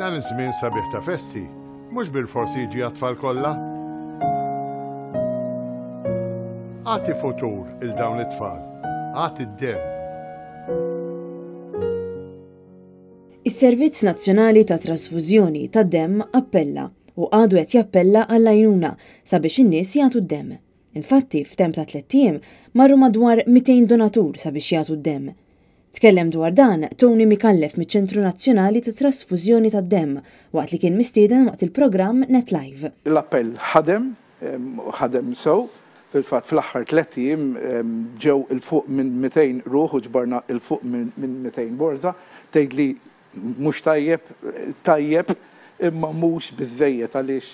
Dan iż-żmien sabiħ ta' festi mhux bilfors jiġi għat-tfal kollha. Agħti futur 'il dawn it-tfal. Agħti d-demm. Is-Servizz Nazzjonali ta' Trasfużjoni tad-Demm appella u għadu qed jappella għall-għajnuna sabiex in-nies jagħtu d-demm. Infatti, f'temp ta' tlett ijiem marru madwar 200 donatur sabiex jagħtu d-demm. Tkellem dwar dan Tony Micallef miċ-Ċentru Nazzjonali ta' Trasfużjoni tad-Demm waqt li kien mistieden waqt il-programm Net Live. L-appell ħadem, ħadem sew. Fil-fatt fl-aħħar tlett ijiem ġew 'il fuq minn 200 ruħ u ġbarna 'il fuq minn 200 borża. Tgħidli mhux tajjeb? Tajjeb imma mhux biżżejjed għaliex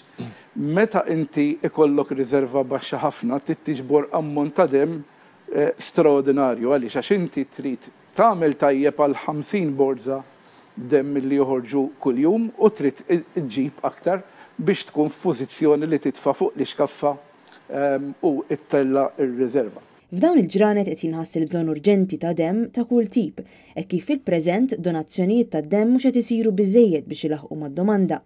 meta inti ikollok riserva baxxa ħafna trid tiġbor ammont ta' demm straordinarju. Għaliex? Għax inti trid tagħmel tajjeb għal 50 borża demm li joħorġu kuljum u trid iġġib aktar biex tkun f'pożizzjoni li titfa' fuq l-ixkaffa u ttella' r-riserva. F'dawn il-ġranet qed jinħass il-bżonn urġenti ta' demm ta' kull tip, hekk kif fil-preżent donazzjonijiet tad-demm mhux qed isiru biżżejjed biex ilaħħqu mad-domanda.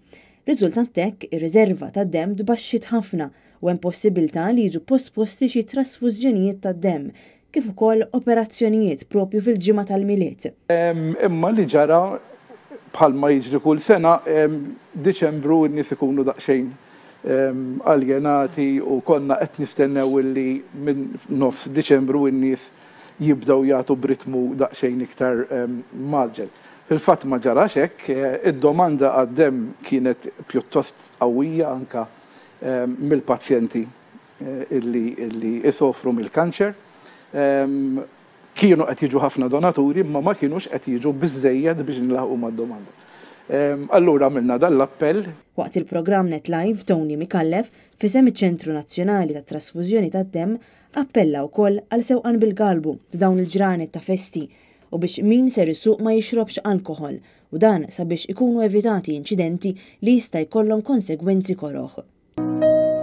Riżultat t'hekk, ir-riserva tad-demm tbaxxiet ħafna u hemm possibiltà li jiġu posposti xi trasfużjonijiet tad-demm, kif ukoll operazzjonijiet propju fil-ġimgħa tal-Milied. Imma li ġara, bħalma jiġri kull sena, Diċembru n-nies ikunu daqsxejn aljenati u konna qed nistennew illi minn nofs Diċembru n-nies jibdew jagħtu b'ritmu daqsxejn iktar mgħaġġel. Fil-fatt ma ġarax hekk, id-domanda għad-demm kienet pjuttost qawwija anke mill-pazjenti illi jsofru mill-kanċer. Kienu qed jiġu ħafna donaturi imma ma kinux qed jiġu biżżejjed biex nlaħqu mad-domanda. Allura għamilna dan l-appell. Waqt il-programm Net Live, Tony Micallef, f'isem iċ-Ċentru Nazzjonali tat-Trasfużjoni tad-Demm, appella wkoll għal sewqan bil-galbu f'dawn il-ġranet ta' festi u biex min ser isuq ma jixrobx alkoħol u dan sabiex ikunu evitati inċidenti li jista' jkollhom konsegwenzi koroh.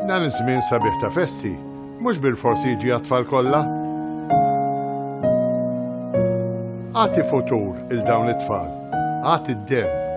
Dan iż-żmien sabiħ ta' festi mhux bilfors jiġi għat-tfal kollha. Agħti futur 'il dawn it-tfal. Agħti d-demm.